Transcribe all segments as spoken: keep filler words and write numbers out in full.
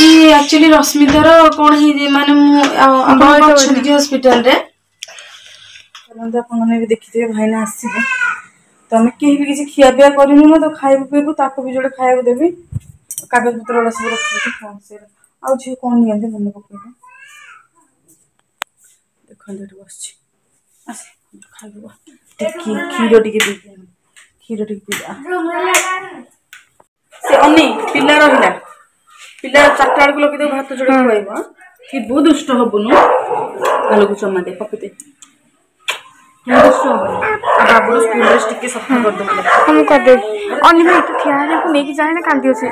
ଇଏ ଆକ୍ଚୁଆଲି ରଶ୍ମିତାର କ'ଣ ହେଇଛି, ମାନେ ମୁଁ ଆପଣ ଅଛନ୍ତି କି ହସ୍ପିଟାଲରେ? ଆପଣମାନେ ବି ଦେଖିଥିବେ, ଭାଇନା ଆସିବେ ତ ଆମେ କେହି ବି କିଛି ଖିଆପିଆ କରିନୁ ନା, ତ ଖାଇବୁ ପିଇବୁ, ତାକୁ ବି ଯୋଡ଼େ ଖାଇବାକୁ ଦେବି। କାଗଜପତ୍ର ଗୁଡ଼ା ସବୁ ରଖିଦେବି। ହଁ, ସେ ଆଉ ଝିଅ କ'ଣ ନିଅନ୍ତି ମନେ ପକେଇବେ। ଦେଖନ୍ତୁ, ଏଠି ବସିଛି। ଆସେ ଖାଇବୁ। କ୍ଷୀର ଟିକେ ପିଇ, କ୍ଷୀର ଟିକେ ପିଇବା। ସେ ଅନି ପିଲା ରହିଲା, ପିଲା ଚାରିଟା ବେଳକୁ ଲଗେଇଦେବୁ, ଭାତ ଯୋଡ଼େ ଖୁଆଇବ। ଥିବୁ, ଦୁଷ୍ଟ ହବୁନୁ। ଗାଲକୁ ଚମା ଦେ, ପପି ଦେ। ଦୁଷ୍ଟ ହବୁନୁ। ବାବୁର ସ୍କୁଲ ଡ୍ରେସ୍ ଟିକେ ସଫା କରିଦେବୁ। ମୁଁ କରିଦେବି। ଅନି ଭାଇ, ତୁ ଠିଆ ହେଲେ ନେଇକି ଯାଏ ନା, କାନ୍ଦିବ ସେ।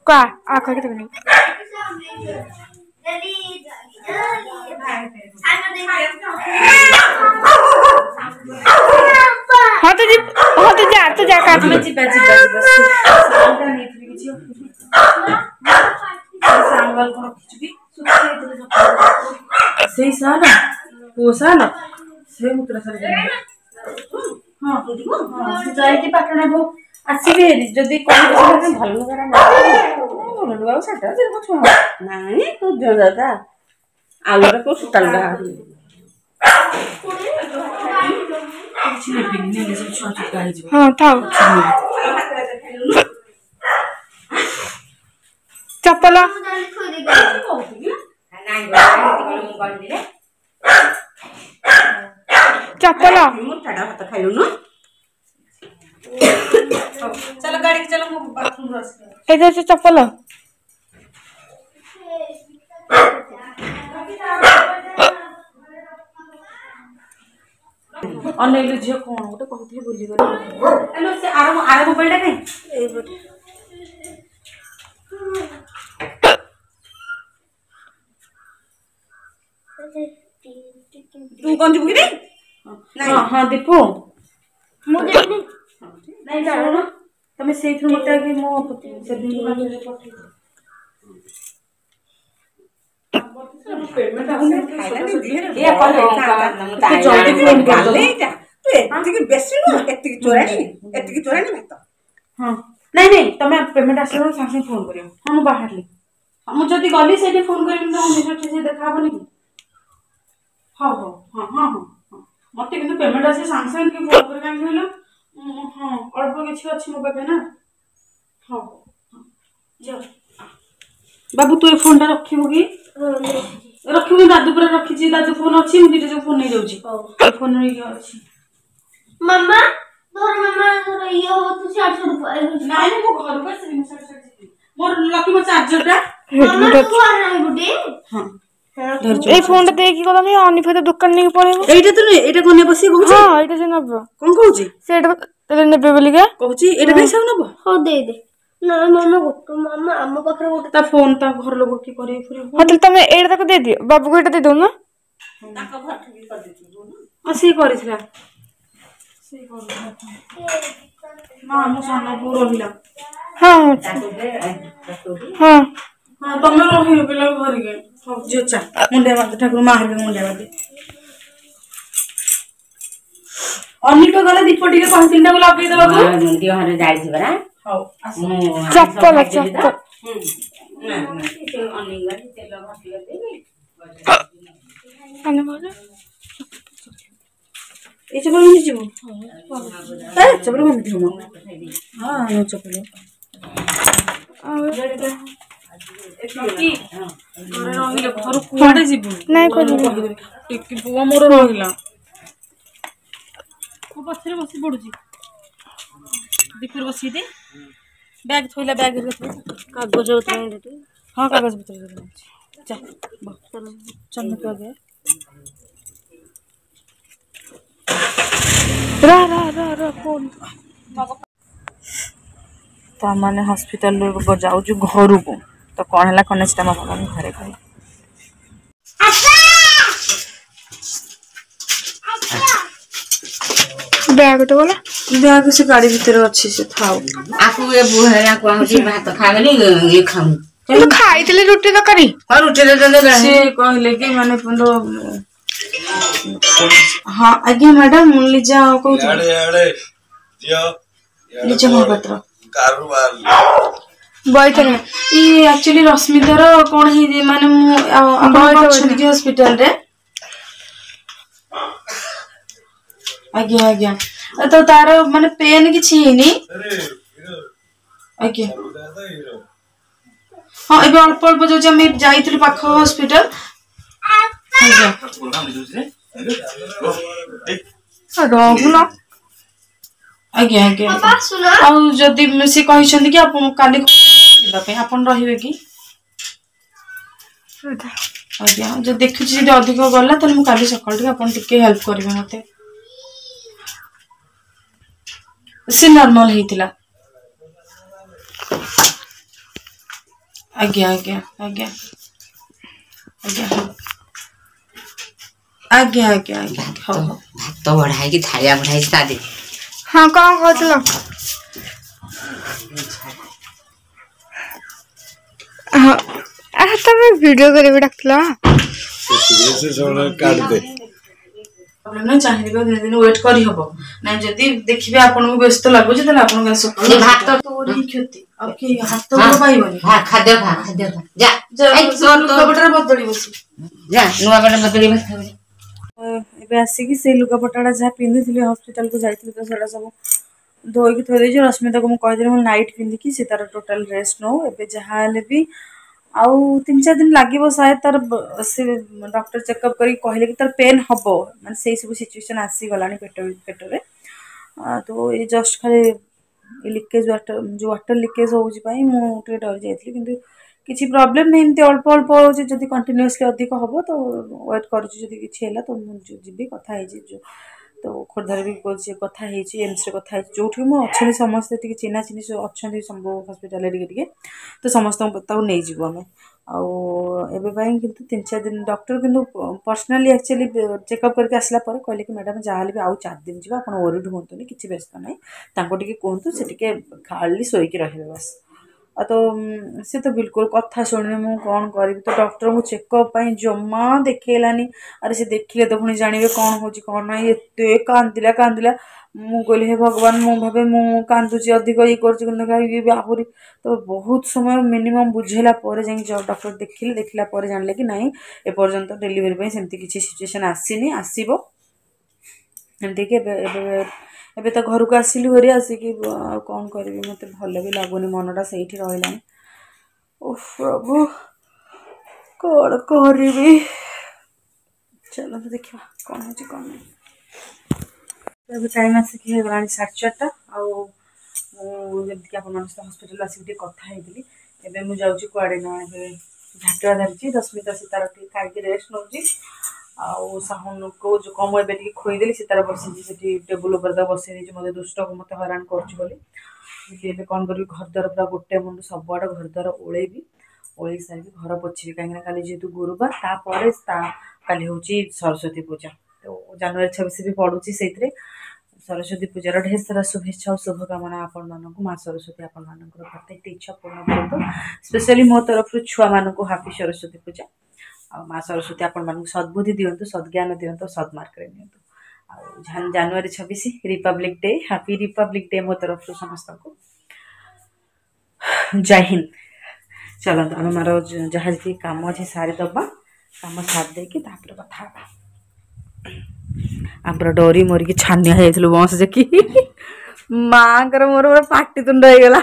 କା ଆ କହିକି ତାକୁ ନେଇକି। ହଁ, ତୁ ଯିବୁ। ହଁ, ତୁ ଯା, ତୁ ଯା। ଆମେ ଯିବା, ଯିବା, ଯିବା। ନେଇଥିବି କିଛି ସାଙ୍ଗକୁ ରଖିଛୁ କି? ସେଇ ସାଲ ପୁଅ ସାଲ ସେ ମୁତୁରା ସାର। ହଁ ହଁ, ସେ ଯାଇକି ପାଟଣାକୁ ଆସିବି ହେରି ଯଦି କହିବେ। ଭଲ ଲୁଗା, ଭଲ ଲୁଗା ସେଟା ସେ ଛୁଆ ନାଇଁ ତୁ ଦାଦା, ଆଉ ଗୋଟେ କୋଉ ସୂତା ଲୁଗା କିଛି ନେବିନି, ନେଲେ ସବୁ ଛୁଆ ଚୁକା ହେଇଯିବ। ହଁ, ଥାଉ। ଚପଲ ଚପଲ। ଭାତ ଖାଇଲୁନୁ? ଚାଲ ଗାଡ଼ିକି ଚାଲ, ମୁଁ ବାଥରୁମରୁ ଆସିଲି। ଏଇଟା ଅଛି ଚପଲ। ଅନେଇଲୁ ଝିଅ, କ'ଣ ଗୋଟେ କହୁଥିଲି ଭୁଲିଗଲି। ହ୍ୟାଲୋ, ସେ ଆର ଆର ମୋବାଇଲଟା କାଇଁ? ଏଇପଟେ। ତୁ କଣ ଯିବୁ କି? ନାଇଁ। ହଁ ଦୀପୁ, ମୁଁ ଯିବିନି। ନାଇଁ, ଶୁଣ, ତମେ ସେଇଥିରୁ ମତେ ଆଗେ ମୋ ସେଭିଂ ପଠେଇ। ଏତିକି ବେଶୀ ନୁହଁ, ଏତିକି ଚୋରାଣୀ, ଏତିକି ଚୋରାଣୀ ଭାତ। ହଁ, ନାଇଁ ନାଇଁ, ତମେ ପେମେଣ୍ଟ ଆସିଲା ସାଙ୍ଗେ ସାଙ୍ଗେ ଫୋନ୍ କରିବ। ହଁ, ମୁଁ ବାହାରିଲି। ମୁଁ ଯଦି ଗଲି ସେଇଠି ଫୋନ୍ କରିବି ତ ନିଜ ଦେଖା ହବନି କି? ହଉ ହଉ, ହଁ ହଁ ହଁ ହଁ। ମୋତେ କିନ୍ତୁ ପେମେଣ୍ଟ ଆସିଲେ ସାଙ୍ଗେ ସାଙ୍ଗେ ଟିକେ ଫୋନ୍ କରିବେ, କାହିଁକି କହିଲ? ହଁ, ଅଳ୍ପ କିଛି ଅଛି ମୋ ପାଖରେ ନା। ହଉ ହଉ, ହଁ, ଯାଅ। ବାବୁ, ତୁ ଏ ଫୋନ୍ଟା ରଖିବୁ କି? ରଖିବୁ? ଦାଦୁ ପୁରା ରଖିଛି, ଦାଦୁ ଫୋନ୍ ଅଛି। ମୁଁ ଦୁଇଟା ଯୋଉ ଫୋନ୍ ନେଇଯାଉଛି, ଏ ଫୋନ୍ ଅଛି। ମାମା ଧର, ମାମା ଧର, ଇଏ ହବ, ତୁ ସିଆଡେ ସିଆଡେ। ନାଇଁ, ମୁଁ ଘରକୁ ଆସିବି, ମୁଁ ସିଆଡେ ସିଆଡେ ଯିବି। ମୋର ଲକି, ମୋ ଚାର୍ଜରଟା। ମାମା, ତୁ ଘରେ ରହିବୁ ଟି? ହଁ। ଏଇ ଫୋନଟା ଦେଇକି ଗଲାନି, ଅନିଫା ତ ଦୋକାନ ନେଇକି ପଳେଇବ। ଏଇଟା ତ ନୁହେଁ, ଏଇଟା କଣ ନେବ ସିଏ କହୁଛି? ହଁ, ଏଇଟା ସେ ନବ। କଣ କହୁଛି? ସେଇଟା ନେବେ ବୋଲିକା କହୁଛି। ଏଇଟା କାଇଁ ସବୁ ନବ? ହଉ, ଦେଇଦେ ନା ମାମା, ଗୋଟେ ମାମା, ଆମ ପାଖରେ ଗୋଟେ। ତା ଫୋନ ତା ଘର ଲୋକ କିଏ କରିବେ ଫୁଣି। ହଁ, ତାହେଲେ ତମେ ଏଇଟା ତାକୁ ଦେଇଦିଅ, ବାବୁକୁ ଏଇଟା ଦେଇଦଉନ। ହଁ, ସିଏ କରିଥିଲା, ସିଏ କରିଥିଲା ମା। ମୋ ସାନ ପୁଅ ରହିଲା। ହଁ ହଁ ହଁ, ତମେ ରହିବ ପିଲାକୁ ଧରିକି। ହଉ ଝିଅ, ଚା ମୁଣ୍ଡିଆ ମାରିଦେ, ଠାକୁର ମା ହେରିକା ମୁଣ୍ଡିଆ ମାରିଦେ। ଅନିକ ଗଲେ ଦୀପ ଟିକେ କହିଥିଲି ତାକୁ ଲଗେଇ ଦେବାକୁ। ଦିହରେ ଯାଇଛି ପରା। ହଉ। ଚପଲ ଚପଲ। ତେଲ ଘଷି ଦେଇକି ଏଇ ଚପଲ ପିନ୍ଧି ଯିବୁ? ଏ ଚପଲ ପିନ୍ଧିଥିବୁ ମ। ହଁ, ଚପଲ। ଘରେ ରହିଲେ ଘରୁ କୁଆଡେ ଯିବୁ? ନାଇଁ, କହିଦେବି। ଟିକି ପୁଅ ମୋର ରହିଲା, ମୋ ପଛରେ ବସି ପଡୁଛି। ଦୀପୁର ବସିକି ଦେ। ବ୍ୟାଗ ଥୋଇଲା, ବ୍ୟାଗ କାଗଜ ପତ୍ର। ହଁ, କାଗଜ ପତ୍ର ଚା ଚନ୍ଦ ଆଗେ। ର ର ର ର, ଫୋନ। ତ ଆମମାନେ ହସ୍ପିଟାଲରୁ ଯାଉଛୁ ଘରକୁ, ତ କ'ଣ ହେଲା କ'ଣ ସେଟା ମୋ ବାବା ଘରେ କହିଲେ। ବ୍ୟାଗ ତ ଗଲା। ବ୍ୟାଗ ସେ ଗାଡ଼ି ଭିତରେ ଅଛି, ସେ ଥାଉ। ଆକୁ ଏ ବୁହାକୁ ଆଣୁଛି, ଭାତ ଖାଇବେନି, ଇଏ ଖାଉନି। କିନ୍ତୁ ଖାଇଥିଲେ ରୁଟି ତରକାରୀ। ହଁ, ରୁଟି ଦେଲେ। ସିଏ କହିଲେ କି ମାନେ, ହଁ ଆଜ୍ଞା ମ୍ୟାଡାମ, ମୁଁ ଲିଜା କହୁଥିଲି, ଲିଜା ମହାପାତ୍ର। ବଇତରଣୀ। ଇଏ ଆକ୍ଚୁଆଲି ରଶ୍ମିତାର କ'ଣ ହେଇଛି, ମାନେ ମୁଁ ଆଉ ଆପଣ ଅଛନ୍ତି କି ହସ୍ପିଟାଲରେ? ଆଜ୍ଞା ଆଜ୍ଞା, ତ ତାର ମାନେ ପେନ୍ କିଛି ହେଇନି? ଆଜ୍ଞା ହଁ, ଏବେ ଅଳ୍ପ ଅଳ୍ପ ଯାଉଛି, ଆମେ ଯାଇଥିଲୁ ପାଖ ହସ୍ପିଟାଲ। ଆଜ୍ଞା ରହୁନ। ଆଜ୍ଞା ଆଜ୍ଞା, ଆଉ ଯଦି ସେ କହିଛନ୍ତି କି ଆପଣ କାଲି ଯିବା ପାଇଁ, ଆପଣ ରହିବେ କି? ଆଜ୍ଞା, ଯଦି ଦେଖୁଛି ଯଦି ଅଧିକ ଗଲା ତାହେଲେ ମୁଁ କାଲି ସକାଳୁ ଟିକେ ଆପଣ ଟିକେ ହେଲ୍ପ କରିବେ ମତେ। ସେ ନର୍ମାଲ ହେଇଥିଲା। ଆଜ୍ଞା ଆଜ୍ଞା ଆଜ୍ଞା ଆଜ୍ଞା, ହଁ ଆଜ୍ଞା ଆଜ୍ଞା ଆଜ୍ଞା, ହଉ ହଉ। ଭାତ ବଢା ହେଇକି ଥାଳିଆ ବଢା ହେଇଛି ତା ଦେହରେ। ହଁ, କଣ କହୁଥିଲ? ହଁ, ଆରେ ତମେ ଭିଡ଼ିଓ କରିବାକୁ ଡାକୁଥିଲ। କାଟିଦେ। ପ୍ରୋବ୍ଲେମ୍ ନାହିଁ, ଚାହିଁଲେ ବି ଦିନେ ଦିନ ୱେଟ୍ କରିହବ ନାଇଁ। ଯଦି ଦେଖିବେ ଆପଣଙ୍କୁ ବ୍ୟସ୍ତ ଲାଗୁଛି ତାହେଲେ ଆପଣ କାଲି ସକାଳୁ ଭାତ ତୋର ହିଁ କ୍ଷତି, ଆଉ କେହି ହାତ ଗୋଡ଼ ପାଇବନି। ଖାଦ୍ୟ ଖା, ଖାଦ୍ୟ ଖା, ଯା। ଲୁଗାପଟାରେ ବଦଳିବ ସେ, ଯା ନୂଆ ପଟା ବଦଳିବ। ଏବେ ଆସିକି ସେଇ ଲୁଗାପଟାଟା ଯାହା ପିନ୍ଧିଥିଲି ହସ୍ପିଟାଲକୁ ଯାଇଥିଲି, ତ ସେଇଟା ସବୁ ଧୋଇକି ଥୋଇ ଦେଇଛି। ରଶ୍ମିତାକୁ ମୁଁ କହିଦେଲି ମୁଁ ନାଇଟ୍ ପିନ୍ଧିକି ସେ ତାର ଟୋଟାଲ ରେଷ୍ଟ ନଉ। ଏବେ ଯାହା ହେଲେ ବି ଆଉ ତିନି ଚାରି ଦିନ ଲାଗିବ ସାୟଦ ତାର। ସେ ଡକ୍ଟର ଚେକଅପ୍ କରିକି କହିଲେ କି ତାର ପେନ୍ ହବ, ମାନେ ସେଇ ସବୁ ସିଚୁଏସନ୍ ଆସିଗଲାଣି ପେଟ ପେଟରେ। ତ ଏ ଜଷ୍ଟ ଖାଲି ଲିକେଜ୍ ୱାଟର, ଯେଉଁ ୱାଟର ଲିକେଜ୍ ହେଉଛି ପାଇଁ ମୁଁ ଟିକେ ଡରି ଯାଇଥିଲି, କିନ୍ତୁ କିଛି ପ୍ରୋବ୍ଲେମ୍ ନାହିଁ। ଏମିତି ଅଳ୍ପ ଅଳ୍ପ ହେଉଛି, ଯଦି କଣ୍ଟିନ୍ୟୁଅସଲି ଅଧିକ ହେବ ତ ୱେଟ୍ କରୁଛି। ଯଦି କିଛି ହେଲା ତ ମୁଁ ଯିବି, କଥା ହେଇଛି ଯେଉଁ ତ ଖୋର୍ଦ୍ଧାରେ ବି କଥା ହେଇଛି, ଏମ୍ସରେ କଥା ହେଇଛି, ଯେଉଁଠି ମୁଁ ଅଛନ୍ତି ସମସ୍ତେ ଟିକେ ଚିହ୍ନା ଚିହ୍ନି ଅଛନ୍ତି ସବୁ ହସ୍ପିଟାଲରେ ଟିକେ ଟିକେ, ତ ସମସ୍ତଙ୍କୁ ତାକୁ ନେଇଯିବୁ ଆମେ। ଆଉ ଏବେ ପାଇଁ କିନ୍ତୁ ତିନି ଚାରି ଦିନ ଡକ୍ଟର କିନ୍ତୁ ପର୍ସନାଲି ଆକ୍ଚୁଆଲି ଚେକଅପ୍ କରିକି ଆସିଲା ପରେ କହିଲେ କି ମ୍ୟାଡ଼ାମ୍ ଯାହାହେଲେ ବି ଆଉ ଚାରି ଦିନ ଯିବ, ଆପଣ ୱରିଡ୍ ହୁଅନ୍ତୁନି, କିଛି ବ୍ୟସ୍ତ ନାହିଁ, ତାଙ୍କୁ ଟିକେ କୁହନ୍ତୁ ସେ ଟିକେ ଖାଲି ଶୋଇକି ରହିବେ ବାସ୍। ଆଉ ତ ସେ ତ ବିଲକୁଲ କଥା ଶୁଣୁନି, ମୁଁ କ'ଣ କରିବି? ତ ଡକ୍ଟରଙ୍କୁ ଚେକଅପ୍ ପାଇଁ ଜମା ଦେଖେଇଲାନି। ଆରେ ସେ ଦେଖିଲେ ତ ପୁଣି ଜାଣିବେ କ'ଣ ହେଉଛି କ'ଣ ନାହିଁ। ଏତେ କାନ୍ଦିଲା କାନ୍ଦିଲା, ମୁଁ କହିଲି ହେ ଭଗବାନ, ମୁଁ ଭାବେ ମୁଁ କାନ୍ଦୁଛି ଅଧିକ ଇଏ କରୁଛି, କିନ୍ତୁ ଇଏ ବି ଆହୁରି। ତ ବହୁତ ସମୟ ମିନିମମ୍ ବୁଝେଇଲା ପରେ ଯାଇକି ଡକ୍ଟର ଦେଖିଲେ, ଦେଖିଲା ପରେ ଜାଣିଲେ କି ନାଇଁ ଏପର୍ଯ୍ୟନ୍ତ ଡେଲିଭରି ପାଇଁ ସେମିତି କିଛି ସିଚୁଏସନ୍ ଆସିନି, ଆସିବ ଏମିତିକି। ଏବେ ଏବେ ଏବେ ତ ଘରକୁ ଆସିଲୁ ଭାରି, ଆସିକି ଆଉ କ'ଣ କରିବି, ମୋତେ ଭଲ ବି ଲାଗୁନି, ମନଟା ସେଇଠି ରହିଲାଣି। ଓଃ ପ୍ରଭୁ, କ'ଣ କରିବି? ଚାଲନ୍ତୁ ଦେଖିବା କ'ଣ ହେଉଛି କ'ଣ ନାହିଁ। ଏବେ ଟାଇମ୍ ଆସିକି ହେଇଗଲାଣି ସାଢ଼େ ଚାରିଟା, ଆଉ ମୁଁ ଯେମିତିକି ଆପଣମାନଙ୍କ ସହିତ ହସ୍ପିଟାଲ ଆସିକି ଟିକେ କଥା ହେଇଥିଲି। ଏବେ ମୁଁ ଯାଉଛି କୁଆଡ଼େ ନା ଏବେ ଝାଟୁଆ ଧରିଛି, ରଶ୍ମିତା ସେ ତାର ଟିକେ ଖାଇକି ରେଷ୍ଟ ନେଉଛି, ଆଉ ସାହୁନକୁ ଯେଉଁ ମୁଁ ଏବେ ଟିକେ ଖୋଇଦେଲି, ସେ ତାର ବସିଛି ସେଠି ଟେବୁଲ୍ ଉପରେ, ତାକୁ ବସେଇ ଦେଇଛି। ମୋତେ ଦୁଷ୍ଟକୁ ମୋତେ ହଇରାଣ କରୁଛି ବୋଲି। ଏବେ କ'ଣ କରିବି? ଘର ଦ୍ୱାର ପୁରା ଗୋଟେ ମୁଣ୍ଡ ସବୁଆଡ଼େ ଘର ଦ୍ୱାର ଓଳେଇବି, ଓଳେଇ ସାରିକି ଘର ପୋଛିବି, କାହିଁକିନା କାଲି ଯେହେତୁ ଗୁରୁବାର, ତାପରେ ତା କାଲି ହେଉଛି ସରସ୍ୱତୀ ପୂଜା, ତ ଜାନୁଆରୀ ଛବିଶ ବି ପଡ଼ୁଛି ସେଇଥିରେ। ସରସ୍ୱତୀ ପୂଜାର ଢେର ସାରା ଶୁଭେଚ୍ଛା ଆଉ ଶୁଭକାମନା ଆପଣମାନଙ୍କୁ। ମା ସରସ୍ୱତୀ ଆପଣମାନଙ୍କର ପ୍ରତ୍ୟେକଟି ଇଚ୍ଛା ପୂର୍ଣ୍ଣ କରନ୍ତୁ। ସ୍ପେଶାଲି ମୋ ତରଫରୁ ଛୁଆମାନଙ୍କୁ ହାପି ସରସ୍ୱତୀ ପୂଜା, ଆଉ ମା ସରସ୍ୱତୀ ଆପଣମାନଙ୍କୁ ସଦ୍ବୁଦ୍ଧି ଦିଅନ୍ତୁ, ସଦ୍ଜ୍ଞାନ ଦିଅନ୍ତୁ, ସଦ୍ମାର୍ଗରେ ନିଅନ୍ତୁ। ଆଉ ଜାନୁଆରୀ ଛବିଶ Republic day, happy Republic day ମୋ ତରଫରୁ ସମସ୍ତଙ୍କୁ। ଜୟ ହିନ୍ଦ। ଚାଲନ୍ତୁ ଆମେ ମାର ଯାହା ଯେତିକି କାମ ଅଛି ସାରିଦେବା, କାମ ସାରି ଦେଇକି ତାପରେ କଥା ହେବା। ଆମର ଡରି ମରିକି ଛାନିଆ ହେଇଯାଇଥିଲୁ ବଂଶ ଦେଖି, ମାଙ୍କର ମୋର ପୁରା ପାଟିତୁଣ୍ଡ ହେଇଗଲା।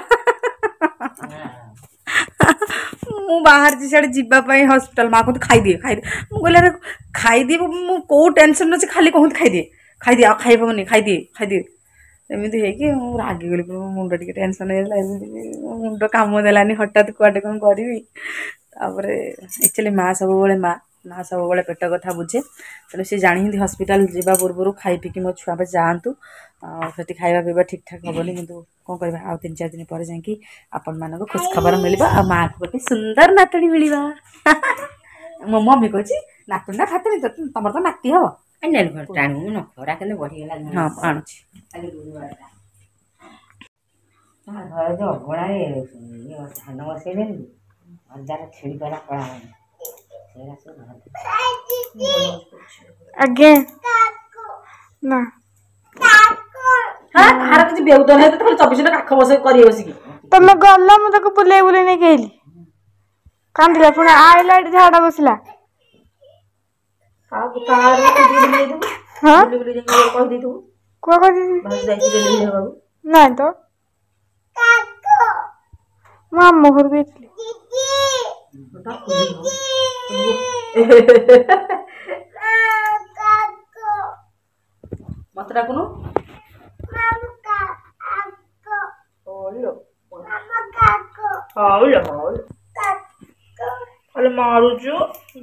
ମୁଁ ବାହାରିଛି ସିଆଡ଼େ ଯିବା ପାଇଁ ହସ୍ପିଟାଲ, ମା କୁହନ୍ତି ଖାଇଦିଏ ଖାଇଦିଏ। ମୁଁ କହିଲି ଆରେ ଖାଇଦିଏ, ମୁଁ କେଉଁ ଟେନସନ୍ ଅଛି, ଖାଲି କହନ୍ତି ଖାଇଦିଏ ଖାଇଦିଏ, ଆଉ ଖାଇହେବନି, ଖାଇଦିଏ ଖାଇଦିଏ, ଏମିତି ହେଇକି ମୁଁ ରାଗିଗଲି। ମୋ ମୁଣ୍ଡ ଟିକେ ଟେନସନ୍ ହେଇଗଲା, ଏମିତି ମୋ ମୁଣ୍ଡ କାମ ଦେଲାନି ହଠାତ୍ କୁଆଡ଼େ କ'ଣ କରିବି। ତାପରେ ଆକ୍ଚୁଆଲି ମା ସବୁବେଳେ ମା ମା ସବୁବେଳେ ପେଟ କଥା ବୁଝେ, ତେଣୁ ସେ ଜାଣିଛନ୍ତି ହସ୍ପିଟାଲ ଯିବା ପୂର୍ବରୁ ଖାଇ ପିଇକି ମୋ ଛୁଆ ଯାଆନ୍ତୁ, ଆଉ ସେଠି ଖାଇବା ପିଇବା ଠିକ୍ ଠାକ୍ ହେବନି। କିନ୍ତୁ କ'ଣ କରିବା, ଆଉ ତିନି ଚାରି ଦିନ ପରେ ଯାଇକି ଆପଣମାନଙ୍କୁ ଖୁସି ଖବର ମିଳିବ, ଆଉ ମାଆକୁ ଗୋଟେ ସୁନ୍ଦର ନାତୁଣୀ ମିଳିବ। ମୋ ମମି କହୁଛି ନାତୁଣୀ ନା ଫାତୁଣୀ, ତମର ତ ନାତି ହବ। ଖରା କେତେ ବଢିଗଲା। ହଁ ଆଣୁଛି। ଘରେ ଯୋଉ ଅଗଣାରେ ଧାନ ବସେଇଲେନି, ଅଜାର ଛିଡ଼ିଗଲା କଳା ସେଇଟା ସବୁ। ଆଜ୍ଞା ନା କାହାର କିଛି ବେଉଦ ନାହିଁ, ତ ଖାଲି ଚବିଶ ଘଣ୍ଟା କାଖ ବସେଇ କରିବେ ବସିକି। ତମେ ଗଲ, ମୁଁ ତାକୁ ବୁଲେଇ ବୁଲେଇ ନେଇକି ଆଇଲି। କାନ୍ଦିଲା, ପୁଣି ଆଇଲା, ଏଠି ଝାଡା ବସିଲା। କାହାକୁ କାହାର ବୁଲି ହଁ ବୁଲି ଯାଇକି କହିଦେଇଥିବୁ। କୁହ, କହିଦେଇଥିବି। ଭାଉଜ ଯାଇଛି ଡେଲିଭରି ହେବାକୁ। ନାଇଁ ତ, ମୁଁ ଆମ ଘରକୁ ଯାଇଥିଲି। ମତେ ଡାକୁନୁ। ହଉ ଲୋ, ହଉ, ଖାଲି ମାରୁଛୁ,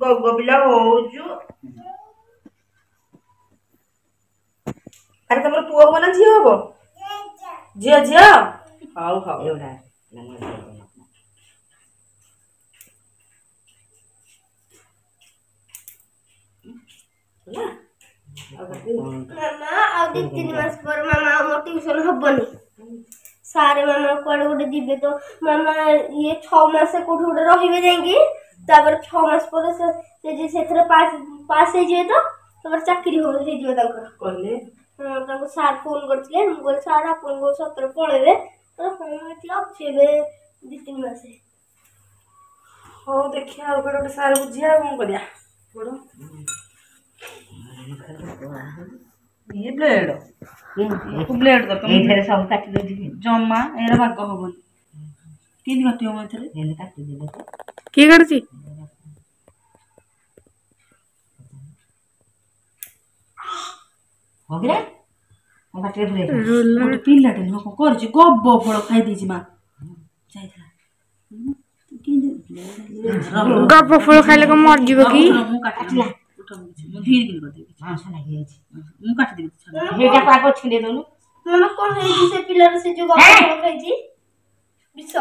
ଗଗ ପିଲା ହଉଛୁ। ଆରେ, ତମର ପୁଅ ହବ ନା ଝିଅ ହବ? ଝିଅ, ଝିଅ। ହଉ ହଉ। ଏଗୁଡ଼ା ମାମା, ଆଉ ଦି ତିନି ମାସ ପରେ ମାମା ଆମ ଟ୍ୟୁସନ ହବନି। ସାରେ ମାମା କୁଆଡେ ଗୋଟେ ଯିବେ ତ ମାମା, ଇଏ ଛଅ ମାସ କୋଉଠି ଗୋଟେ ରହିବେ ଯାଇକି, ତାପରେ ଛଅ ମାସ ପରେ ସେ ସେ ସେଥିରେ ପାସ୍ ପାସ୍ ହେଇଯିବେ ତ ତାପରେ ଚାକିରି ହବ, ହେଇଯିବ ତାଙ୍କର। କହିଲେ? ହଁ, ତାଙ୍କୁ ସାର୍ ଫୋନ୍ କରିଥିଲେ। ମୁଁ କହିଲି, ସାର୍ ଆପଣଙ୍କ ସତରେ ପଳେଇବେ? କହିଲେ, ହଁ, ଏଠି ଅଛି ଏବେ ଦି ତିନି ମାସ। ହଉ, ଦେଖିବା, ଆଉ କୁଆଡ଼େ ଗୋଟେ ସାର୍ ବୁଝିବା, ଆଉ କ'ଣ କରିବା। ଗୋଡ଼ ଇଏ ବ୍ଲେଡ୍, ବ୍ଲେଡ୍ ଦରକାର। ଏଇଥିରେ ସବୁ କାଟି ଦଉଛି। ଜମା ଏରା ବାଗ ହବନି। କେମିତି କାଟିବ ମ ଏଥିରେ? ଏମିତି କାଟିଦେଲେ ତ। କିଏ କାଟୁଛି? ହଉ କିରେ, ମୋ ପାଟିରେ ପୁରେଇ ଗୋଟେ ପିଲାଟେ ନୁହଁ, କ'ଣ କରିଛି, ଗବ ଫଳ ଖାଇ ଦେଇଛି ମା, ଯାଇଥିଲା। ଗବ ଫଳ ଖାଇଲେ କ'ଣ ମରିଯିବ କି? ମୁଁ କାଟିଲା, ମୁଁ ଧୀରେ କିରି କରିଦେବି। ମାଂସ ଲାଗିଯାଇଛି। ମୁଁ କାଟିଦେବି। ସେଇଟାକୁ ଆଗ ଛିଣ୍ଡେଇ ଦଉନୁ। ମାମା, କ'ଣ ହେଇଛି ସେ ପିଲାର, ସେ ଯୋଉ ଗବ ଫଳ ଖାଇଛି, ବିଷ?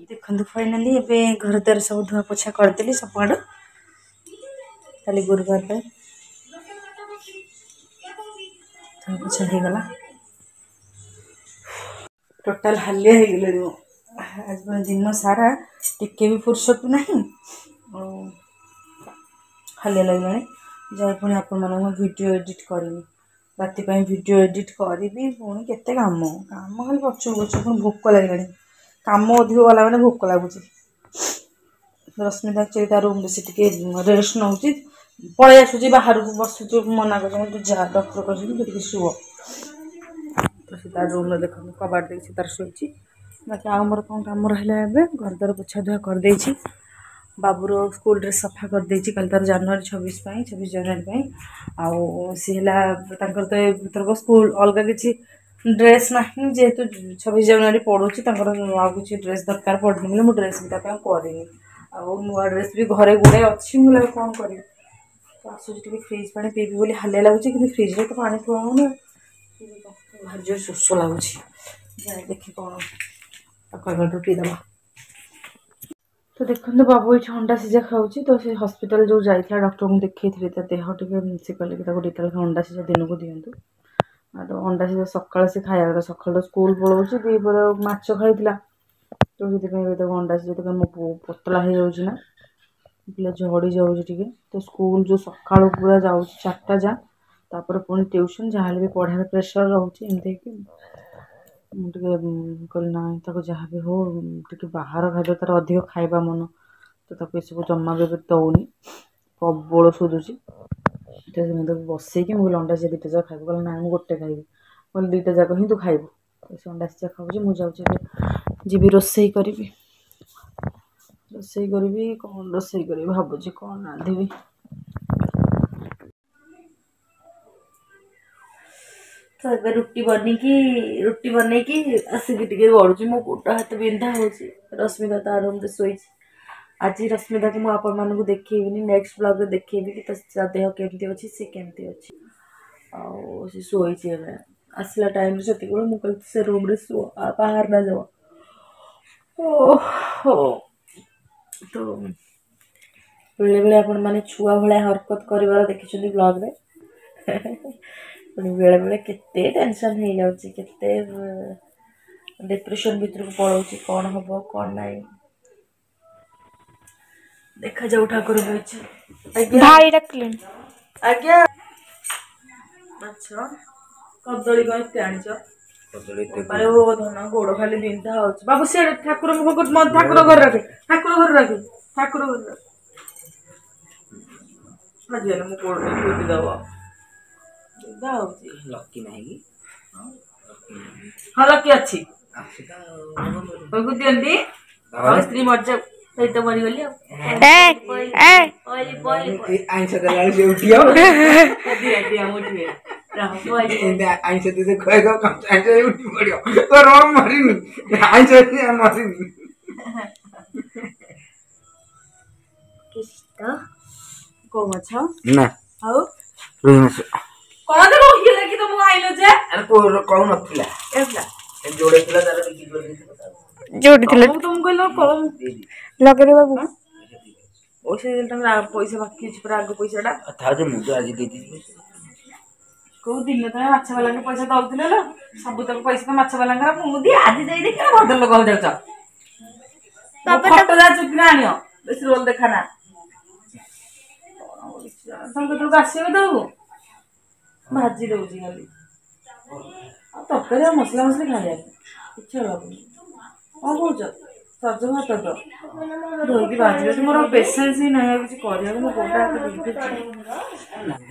ଦେଖନ୍ତୁ, ଫାଇନାଲି ଏବେ ଘର ଦ୍ୱାର ସବୁ ଧୁଆ ପୋଛା କରିଦେଲି ସବୁଆଡ଼ୁ। କାଲି ଗୁରୁବାର ପାଇଁ ଧୁଆ ପୋଛା ହେଇଗଲା। ଟୋଟାଲ ହାଲିଆ ହେଇଗଲେଣି ମୁଁ ଆଜି। ମାନେ ଦିନ ସାରା ଟିକେ ବି ଫୁର୍ସତ ନାହିଁ ଆଉ ହାଲିଆ ଲାଗିଲାଣି। ଯାଇ ପୁଣି ଆପଣମାନଙ୍କୁ ଭିଡ଼ିଓ ଏଡ଼ିଟ୍ କରିବି, ରାତି ପାଇଁ ଭିଡ଼ିଓ ଏଡ଼ିଟ୍ କରିବି। ପୁଣି କେତେ କାମ, କାମ ଖାଲି ପଛକୁ ପଛ। ପୁଣି ଭୋକ ଲାଗିଲାଣି। କାମ ଅଧିକ ଗଲା ମାନେ ଭୋକ ଲାଗୁଛି। ରଶ୍ମିତା ଆକ୍ଚୁଆଲି ତା ରୁମ୍ରେ ସେ ଟିକେ ରେଷ୍ଟ ନେଉଛି, ପଳେଇ ଆସୁଛି ବାହାରକୁ, ବସୁଛି। ମନା କରୁଛି, ତୁ ଯା, ଡକ୍ଟର କହିଛନ୍ତି ତୁ ଟିକେ ଶୁଅ। ତ ସେ ତା ରୁମ୍ରେ ଦେଖନ୍ତୁ, କବାଟ ଦେଇକି ସେ ତାର ଶୋଇଛି। ବାକି ଆଉ ମୋର କ'ଣ କାମ ରହିଲା? ଏବେ ଘର ଦ୍ୱାର ପୋଛା ଧୁଆ କରିଦେଇଛି। ବାବୁର ସ୍କୁଲ ଡ୍ରେସ୍ ସଫା କରିଦେଇଛି କାଲି ତାର ଜାନୁଆରୀ ଛବିଶ ପାଇଁ, ଛବିଶ ଜାନୁଆରୀ ପାଇଁ। ଆଉ ସିଏ ହେଲା ତାଙ୍କର ତ ଏଥରକ ସ୍କୁଲ ଅଲଗା କିଛି ଡ୍ରେସ୍ ନାହିଁ, ଯେହେତୁ ଛବିଶ ଜାନୁଆରୀ ପଡ଼ୁଛି, ତାଙ୍କର ଆଉ କିଛି ଡ୍ରେସ୍ ଦରକାର ପଡ଼ୁନି ବୋଲି ମୁଁ ଡ୍ରେସ୍ ବି ତା ପାଇଁ କରିନି। ଆଉ ନୂଆ ଡ୍ରେସ୍ ବି ଘରେ ଗୁଡ଼ାଏ ଅଛି, ମୁଁ ଆଉ କ'ଣ କରିବି? ତ ଆସୁଛି ଟିକେ ଫ୍ରିଜ୍ ପାଣି ପିଇବି ବୋଲି, ହାଲିଆ ଲାଗୁଛି, କିନ୍ତୁ ଫ୍ରିଜ୍ରେ ତ ପାଣି ଥୁଆ ହେଉନି। ଭାରି ଜୋର ଶୋଷ ଲାଗୁଛି। ଯାଏ ଦେଖି କ'ଣ ଆକ୍ୱାଗାର୍ଡ଼ରୁ ପିଇଦେବା। ତ ଦେଖନ୍ତୁ, ବାବୁ ଏଇଠି ଅଣ୍ଡା ସିଝା ଖାଉଛି। ତ ସେ ହସ୍ପିଟାଲ ଯେଉଁ ଯାଇଥିଲା, ଡକ୍ଟରଙ୍କୁ ଦେଖେଇଥିଲେ, ତା ଦେହ ଟିକେ, ସେ କହିଲେ କି ତାକୁ ଦୁଇଟା ଲେଖା ଅଣ୍ଡା ସିଝା ଦିନକୁ ଦିଅନ୍ତୁ। ଆଉ ତ ଅଣ୍ଡା ସିଝା ସକାଳେ ସେ ଖାଇବା କଥା। ସକାଳୁ ତ ସ୍କୁଲ ପଳାଉଛି, ଦ୍ୱିପହରେ ମାଛ ଖାଇଥିଲା, ତ ସେଥିପାଇଁ ଏବେ ତାକୁ ଅଣ୍ଡା ସିଝା। ତ ମୋ ପୁଅ ପତଳା ହେଇଯାଉଛି ନା ପିଲା, ଝଡ଼ି ଯାଉଛି ଟିକେ। ତ ସ୍କୁଲ ଯେଉଁ ସକାଳୁ ପୁରା ଯାଉଛି ଚାରିଟା ଯା, ତାପରେ ପୁଣି ଟ୍ୟୁସନ୍, ଯାହାହେଲେ ବି ପଢ଼ାର ପ୍ରେସର୍ ରହୁଛି। ଏମିତି ହେଇକି ମୁଁ ଟିକେ କହିଲି, ନାଇଁ, ତାକୁ ଯାହା ବି ହଉ ଟିକେ ବାହାର ଖାଦ୍ୟ ତାର ଅଧିକ ଖାଇବା ମନ, ତ ତାକୁ ଏସବୁ ଜମା ବି ଏବେ ଦେଉନି, ପ୍ରବଳ ଶୋଧୁଛି। ତ ମୁଁ ତାକୁ ବସେଇକି ମୁଁ କହିଲି, ଅଣ୍ଡା ସିଝା ଦୁଇଟା ଯାକ ଖାଇବୁ? କହିଲା, ନାଇଁ, ମୁଁ ଗୋଟେ ଖାଇବି। କହିଲି, ଦୁଇଟା ଯାକ ହିଁ ତୁ ଖାଇବୁ। ତ ସେ ଅଣ୍ଡା ସିଝା ଖାଉଛି। ମୁଁ ଯାଉଛି ଏବେ ଯିବି ରୋଷେଇ କରିବି। ରୋଷେଇ କରିବି, କ'ଣ ରୋଷେଇ କରିବି ଭାବୁଛି, କ'ଣ ରାନ୍ଧିବି। ତ ଏବେ ରୁଟି ବନେଇକି ରୁଟି ବନେଇକି ଆସିକି ଟିକେ ଗଡ଼ୁଛି। ମୋ ଗୋଡ଼ ହାତ ବିନ୍ଧା ହେଉଛି। ରଶ୍ମିତା ତା ରୁମ୍ରେ ଶୋଇଛି। ଆଜି ରଶ୍ମିତାକୁ ମୁଁ ଆପଣମାନଙ୍କୁ ଦେଖେଇବିନି, ନେକ୍ସଟ ବ୍ଲଗ୍ରେ ଦେଖେଇବି କି ତା ଦେହ କେମିତି ଅଛି, ସେ କେମିତି ଅଛି। ଆଉ ସେ ଶୋଇଛି ଏବେ। ଆସିଲା ଟାଇମ୍ରେ ସେତିକିବେଳେ ମୁଁ କହିଲି, ସେ ରୁମ୍ରେ ଶୁଅ ଆଉ ବାହାର ନା ଯାଅ। ଓହୋ, ତ ବେଳେବେଳେ ଆପଣମାନେ ଛୁଆ ଭଳିଆ ହରକତ କରିବାର ଦେଖିଛନ୍ତି ବ୍ଲଗ୍ରେ। ପୁଣି ବେଳେବେଳେ କେତେ ଟେନସନ୍ ହେଇଯାଉଛି, କେତେ ଡିପ୍ରେସନ୍ ଭିତରକୁ ପଳାଉଛି, କ'ଣ ହେବ କ'ଣ ନାହିଁ, ଦେଖାଯାଉ ଠାକୁରଙ୍କ ଇଚ୍ଛା। ଆଜ୍ଞା। ଭାଇ ଡାକିଲେଣି। ଆଜ୍ଞା। ମାଛ, କଦଳୀ କ'ଣ ଏତେ ଆଣିଛ? କଦଳୀ ଏତେ ଆରେ ଓ ଧନ ଗୋଡ଼ ଖାଲି ବିନ୍ଧା ହଉଛି ବାବୁ ସିଆଡ଼େ ଠାକୁର ମୁଖ ଠାକୁର ଘରେ ରଖେ ଠାକୁର ଘରେ ରଖେ ଠାକୁର ଘରେ ରଖେ ଆଜି ହେଲେ ମୁଁ ଗୋଡ଼ କୁଦି ଦବ ବିନ୍ଧା ହଉଛି ଲକି ନାହିଁ କି ହଁ ଲକି ଅଛି ଅଛି ତ ତାକୁ ଦିଅନ୍ତି ଆଉ ସ୍ତ୍ରୀ ମରିଯାଉ ସେଇ ତ ମରିଗଲି ଆଉ ଏ ଏ ପଇଲି ପଇଲି ଆଇଁଷ ଦେଲା ବେଳେ ସେ ଉଠିବ ଦିଅ ଦିଅ ମୁଁ ଉଠିବେ ରହ ପଇଲି ଏମିତି ଆଇଁଷ ଦେଇ ଖୁଆଇଦବ କଞ୍ଚା ଆଇଁଷ ଉଠି ପଡିବ ତ ର ମରିନି ଆଇଁଷ ମରିନି କିସ୍ତ କୋଉ ମାଛ ନା ଆଉ ରୋହି ମାଛ କଣ ତ ରୋହି କି ତମକୁ ଆଇଲ ଯେ ଆରେ କୋଉ କଉ ନଥିଲା ଏଥିଲା ଯୋଡେ ଥିଲା ତାର ବିକ୍ରି କରିଦେଇଥିଲା ଯୋଉଠି ଥିଲା ତମକୁ ତମକୁ କହିଲ କମ ଲଗେଇଦେ ବାବୁ ପଇସା ଦେଲେ ତମର ପଇସା ବାକି ଅଛି ପୁରା ଆଗ ପଇସାଟା ଥାଉ ଯେ ମୁଁ ତ ଆଜି ଦେଇଦେଇଛି କୋଉ ଦିନ ତମେ ମାଛ ବାଲାଙ୍କୁ ପଇସା ଦଉଥିଲ ଲୋ ସବୁ ତକ ପଇସା ତ ମାଛ ବାଲାଙ୍କର ମୁଁ ଦିଏ ଆଜି ଦେଇଦେଇ କେବେ ଭଦ୍ରଲୋକ ଯାଉଛ ବାବା ଫଟୋ ଯାହା ଚୁପିନା ଆଣିବ ବେଶୀ ରୋଲ ଦେଖା ନା ତମେ କେତେବେଳକୁ ଆସିବ ଦବୁ ଭାଜି ଦଉଛି ଖାଲି ଆଉ ତରକାରୀ ଆଉ ମସଲା ମସଲି ଖାଇବାକୁ ଇଚ୍ଛା ଲାଗୁନି କଣ କହୁଛ ସଜ ଭାତ ତ ଧୋଇକି ଭାଜି ଦଉଛି ମୋର ପେସେନ୍ସ ହିଁ ନାହିଁ ଆଉ କିଛି କରିବାକୁ ମୋ ଗୋଡ ହାତ ବିନ୍ଧୁଛି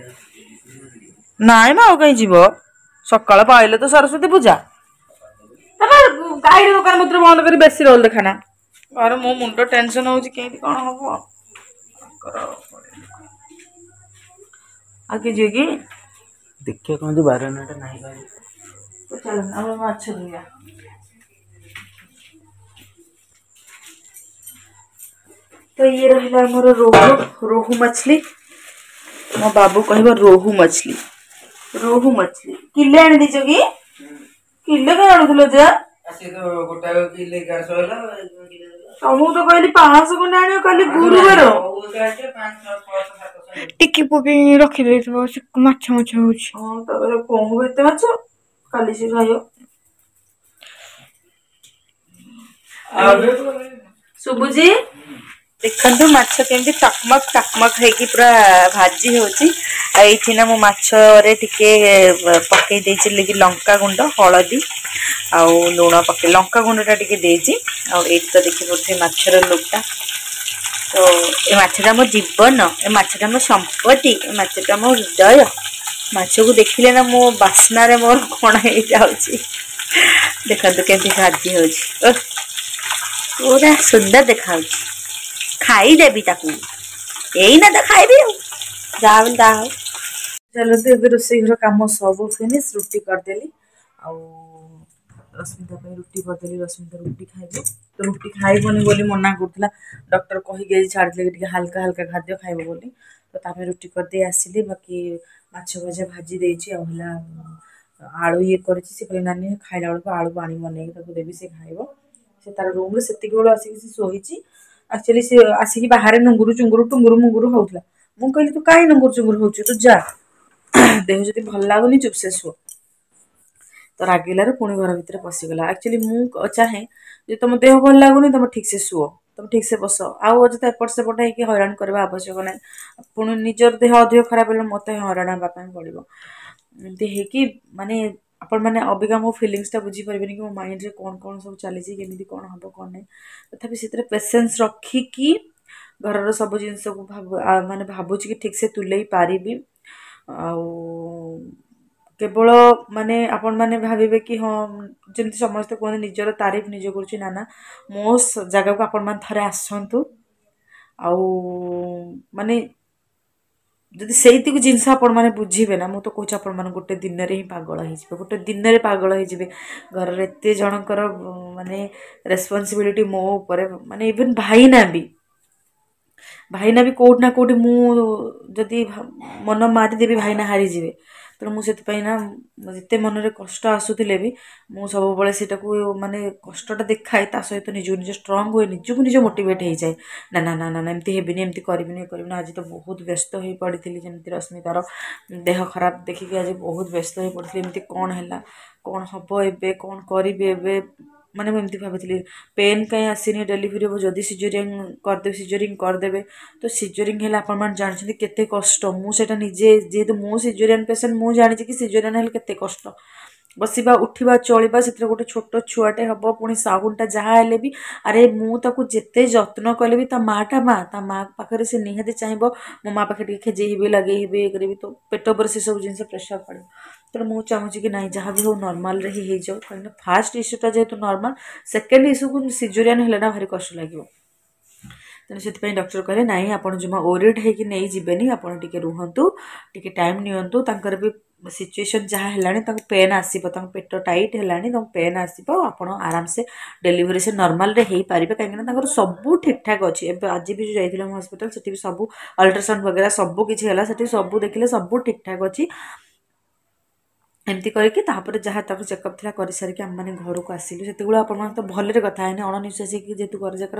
ନାଇଁ ମ ଆଉ କାହିଁ ଯିବ ସକାଳ ପାଇଲେ ତ ସରସ୍ୱତୀ ପୂଜା ତାପରେ ଗାଈର ଦୋକାନ ପତ୍ର ବନ୍ଦ କରି ବେଶୀ ରୋଲ ଦେଖାନା ଘରେ ମୋ ମୁଣ୍ଡ ଟେନସନ ହଉଛି କେମିତି କଣ ହବ ଆଉ କିଏ ଯିବେ କି ଦେଖିବା କଣ ଯୋଉ ବାରଣାଟା ନାହିଁ ବାରି ତ ଚାଲ ଆମେ ମାଛ ଧୋଇବା ତ ଇଏ ରହିଲା ଆମର ରୋହୁ ରୋହୁ ମଛଲି ମୋ ବାବୁ କହିବ ରୋହୁ ମଛଲି ରୋହୁ ମଛଲି କିଲେ ଆଣି ଦେଇଛ କି କିଲେ କାଇଁ ଆଣୁଥିଲ ଯେ ସେ ତ ଗୋଟାଏ କିଲେ ଏଗାରଶହ ହେଲା ତମକୁ ତ କହିଲି ପାଞ୍ଚଶହ ଖଣ୍ଡେ ଆଣିବ କାଲି ଗୁରୁବାର ଟିକି ପୁଅ ବି ରଖିଦେଇଥିବ ସେ ମାଛ ମାଛ ହଉଛି ହଁ ତାପରେ କଣ ହବ ଏତେ ମାଛ କାଲି ସେ ଖାଇବ ଶୁଭୁଛି ଦେଖନ୍ତୁ ମାଛ କେମିତି ଟକମକ ଟକମକ ହେଇକି ପୁରା ଭାଜି ହେଉଛି ଆଉ ଏଇଠି ନା ମୁଁ ମାଛରେ ଟିକେ ପକେଇ ଦେଇଛି ଲଙ୍କା ଗୁଣ୍ଡ ହଳଦୀ ଆଉ ଲୁଣ ପକେଇ ଲଙ୍କା ଗୁଣ୍ଡଟା ଟିକେ ଦେଇଛି ଆଉ ଏଇଠି ତ ଦେଖିପାରୁଥିବେ ମାଛର ଲୁକ୍ଟା ତ ଏ ମାଛଟା ମୋ ଜୀବନ ଏ ମାଛଟା ମୋ ସମ୍ପତ୍ତି ଏ ମାଛଟା ମୋ ହୃଦୟ ମାଛକୁ ଦେଖିଲେ ନା ମୋ ବାସ୍ନାରେ ମୋର କ'ଣ ହେଇଯାଉଛି ଦେଖନ୍ତୁ କେମିତି ଭାଜି ହେଉଛି ଓଃ ପୁରା ସୁନ୍ଦର ଦେଖାଯାଉଛି ଖାଇଦେବି ତାକୁ ଏଇନା ତ ଖାଇବି ଆଉ ଯାହା ବୋଲି ତାହା ହଉ ଚାଲନ୍ତୁ ଏବେ ରୋଷେଇ ଘର କାମ ସବୁ ଫିନିଶ ରୁଟି କରିଦେଲି ଆଉ ରଶ୍ମିତା ପାଇଁ ରୁଟି କରିଦେଲି ରଶ୍ମିତା ରୁଟି ଖାଇବ ତ ରୁଟି ଖାଇବନି ବୋଲି ମନା କରୁଥିଲା ଡକ୍ଟର କହିକି ଆଜି ଛାଡ଼ିଥିଲେ କି ଟିକେ ହାଲକା ହାଲକା ଖାଦ୍ୟ ଖାଇବ ବୋଲି ତ ତା ପାଇଁ ରୁଟି କରିଦେଇ ଆସିଲି ବାକି ମାଛ ଭଜା ଭାଜି ଦେଇଛି ଆଉ ହେଲା ଆଳୁ ଇଏ କରିଛି ସେ କହିଲେ ନାନୀ ଖାଇଲା ବେଳକୁ ଆଳୁ ପାଣି ବନେଇକି ତାକୁ ଦେବି ସେ ଖାଇବ ସେ ତାର ରୁମ୍ରେ ସେତିକି ବେଳୁ ଆସିକି ସେ ଶୋଇଛି ଆକ୍ଚୁଆଲି ସେ ଆସିକି ବାହାରେ ନୁଙ୍ଗୁରୁ ଚୁଙ୍ଗୁରୁ ଟୁଙ୍ଗୁରୁ ମୁଙ୍ଗୁରୁ ହଉଥିଲା ମୁଁ କହିଲି ତୁ କାହିଁ ନୁଙ୍ଗୁରୁ ଚୁଙ୍ଗୁରୁ ହଉଛୁ ତୁ ଯା ଦେହ ଯଦି ଭଲ ଲାଗୁନି ଚୁପ୍ ସେ ଶୁଅ ତ ରାଗିଲାରୁ ପୁଣି ଘର ଭିତରେ ପଶିଗଲା ଆକ୍ଚୁଆଲି ମୁଁ ଚାହେଁ ଯେ ତମ ଦେହ ଭଲ ଲାଗୁନି ତମେ ଠିକ୍ସେ ଶୁଅ ତମେ ଠିକ୍ସେ ବସ ଆଉ ଅଯଥା ଏପଟ ସେପଟ ହେଇକି ହଇରାଣ କରିବା ଆବଶ୍ୟକ ନାହିଁ ପୁଣି ନିଜର ଦେହ ଅଧିକ ଖରାପ ହେଲେ ମୋତେ ହଇରାଣ ହେବା ପାଇଁ ପଡ଼ିବ ଏମିତି ହେଇକି ମାନେ ଆପଣମାନେ ଅବିକା ମୋ ଫିଲିଙ୍ଗସଟା ବୁଝିପାରିବେନି କି ମୋ ମାଇଣ୍ଡରେ କ'ଣ କ'ଣ ସବୁ ଚାଲିଛି କେମିତି କ'ଣ ହେବ କ'ଣ ନାହିଁ ତଥାପି ସେଥିରେ ପେସେନ୍ସ ରଖିକି ଘରର ସବୁ ଜିନିଷକୁ ଭାବ ମାନେ ଭାବୁଛି କି ଠିକ୍ସେ ତୁଲେଇ ପାରିବି ଆଉ କେବଳ ମାନେ ଆପଣମାନେ ଭାବିବେ କି ହଁ ଯେମିତି ସମସ୍ତେ କୁହନ୍ତି ନିଜର ତାରିଫ ନିଜେ କରୁଛି ନା ନା ମୋ ଜାଗାକୁ ଆପଣମାନେ ଥରେ ଆସନ୍ତୁ ଆଉ ମାନେ ଯଦି ସେଇତିକୁ ଜିନିଷ ଆପଣମାନେ ବୁଝିବେ ନା ମୁଁ ତ କହୁଛି ଆପଣମାନେ ଗୋଟେ ଦିନରେ ହିଁ ପାଗଳ ହେଇଯିବେ ଗୋଟେ ଦିନରେ ପାଗଳ ହେଇଯିବେ ଘରର ଏତେ ଜଣଙ୍କର ମାନେ ରେସ୍ପନ୍ସିବିଲିଟି ମୋ ଉପରେ ମାନେ ଇଭେନ୍ ଭାଇନା ବି ଭାଇନା ବି କେଉଁଠି ନା କେଉଁଠି ମୁଁ ଯଦି ମନ ମାରିଦେବି ଭାଇନା ହାରିଯିବେ ତେଣୁ ମୁଁ ସେଥିପାଇଁ ନା ଯେତେ ମନରେ କଷ୍ଟ ଆସୁଥିଲେ ବି ମୁଁ ସବୁବେଳେ ସେଇଟାକୁ ମାନେ କଷ୍ଟଟା ଦେଖାଏ ତା ସହିତ ନିଜକୁ ନିଜ ଷ୍ଟ୍ରଙ୍ଗ ହୁଏ ନିଜକୁ ନିଜ ମୋଟିଭେଟ୍ ହେଇଯାଏ ନା ନା ନା ନା ନା ଏମିତି ହେବିନି ଏମିତି କରିବିନି ଇଏ କରିବିନି ଆଜି ତ ବହୁତ ବ୍ୟସ୍ତ ହେଇ ପଡ଼ିଥିଲି ଯେମିତି ରଶ୍ମିତାର ଦେହ ଖରାପ ଦେଖିକି ଆଜି ବହୁତ ବ୍ୟସ୍ତ ହେଇ ପଡ଼ିଥିଲି ଏମିତି କ'ଣ ହେଲା କ'ଣ ହେବ ଏବେ କ'ଣ କରିବି ଏବେ ମାନେ ମୁଁ ଏମିତି ଭାବୁଥିଲି ପେନ୍ କାହିଁ ଆସିନି ଡେଲିଭରି ହେବ ଯଦି ସିଜରିଂ କରିଦେବେ ସିଜରିଂ କରିଦେବେ ତ ସିଜରିଂ ହେଲେ ଆପଣମାନେ ଜାଣିଛନ୍ତି କେତେ କଷ୍ଟ ମୁଁ ସେଇଟା ନିଜେ ଯେହେତୁ ମୁଁ ସିଜରିଆନ୍ ପେସେଣ୍ଟ ମୁଁ ଜାଣିଛି କି ସିଜରିଆନ୍ ହେଲେ କେତେ କଷ୍ଟ ବସିବା ଉଠିବା ଚଳିବା, ସେଥିରେ ଗୋଟେ ଛୋଟ ଛୁଆଟେ ହେବ, ପୁଣି ସାଉଣ୍ଡଟା ଯାହା ହେଲେ ବି। ଆରେ ମୁଁ ତାକୁ ଯେତେ ଯତ୍ନ କଲେ ବି ତା ମାଆଟା ମା, ତା ମା ପାଖରେ ସେ ନିହାତି ଚାହିଁବ ମୋ ମା ପାଖରେ ଟିକେ ଖେଜେଇ ହେବି, ଲଗେଇ ହେବି, ଇଏ କରିବି। ତ ପେଟ ଉପରେ ସେସବୁ ଜିନିଷ ପ୍ରେସର୍ ପଡ଼ିବ। ତେଣୁ ମୁଁ ଚାହୁଁଛି କି ନାଇଁ, ଯାହା ବି ହଉ ନର୍ମାଲରେ ହିଁ ହେଇଯାଉ, କାହିଁକିନା ଫାର୍ଷ୍ଟ ଇସ୍ୟୁଟା ଯେହେତୁ ନର୍ମାଲ, ସେକେଣ୍ଡ ଇସ୍ୟୁକୁ ସିଜରିଆନ୍ ହେଲେ ନା ଭାରି କଷ୍ଟ ଲାଗିବ। ତେଣୁ ସେଥିପାଇଁ ଡକ୍ଟର କହିଲେ ନାଇଁ, ଆପଣ ଜମା ଓରିଡ୍ ହେଇକି ନେଇଯିବେନି, ଆପଣ ଟିକେ ରୁହନ୍ତୁ, ଟିକେ ଟାଇମ୍ ନିଅନ୍ତୁ। ତାଙ୍କର ବି ସିଚୁଏସନ୍ ଯାହା ହେଲାଣି, ତାଙ୍କୁ ପେନ୍ ଆସିବ, ତାଙ୍କ ପେଟ ଟାଇଟ୍ ହେଲାଣି, ତାଙ୍କୁ ପେନ୍ ଆସିବ। ଆପଣ ଆରାମସେ ଡେଲିଭରି ସେ ନର୍ମାଲରେ ହେଇପାରିବେ, କାହିଁକିନା ତାଙ୍କର ସବୁ ଠିକ୍ଠାକ୍ ଅଛି। ଏବେ ଆଜି ବି ଯେଉଁ ଯାଇଥିଲେ ମୁଁ ହସ୍ପିଟାଲ, ସେଠି ବି ସବୁ ଅଲ୍ଟ୍ରାସାଉଣ୍ଡ ବଗେରା ସବୁ କିଛି ହେଲା, ସେଠି ସବୁ ଦେଖିଲେ ସବୁ ଠିକ୍ଠାକ୍ ଅଛି। ଏମିତି କରିକି ତାପରେ ଯାହା ତାଙ୍କ ଚେକଅପ୍ ଥିଲା କରିସାରିକି ଆମେମାନେ ଘରକୁ ଆସିଲୁ। ସେତେବେଳେ ଆପଣମାନେ ତ ଭଲରେ କଥା ହେଇନି, ଅଣନିଶ୍ୱାସୀ ହେଇକି, ଯେହେତୁ ଘର ଯାକର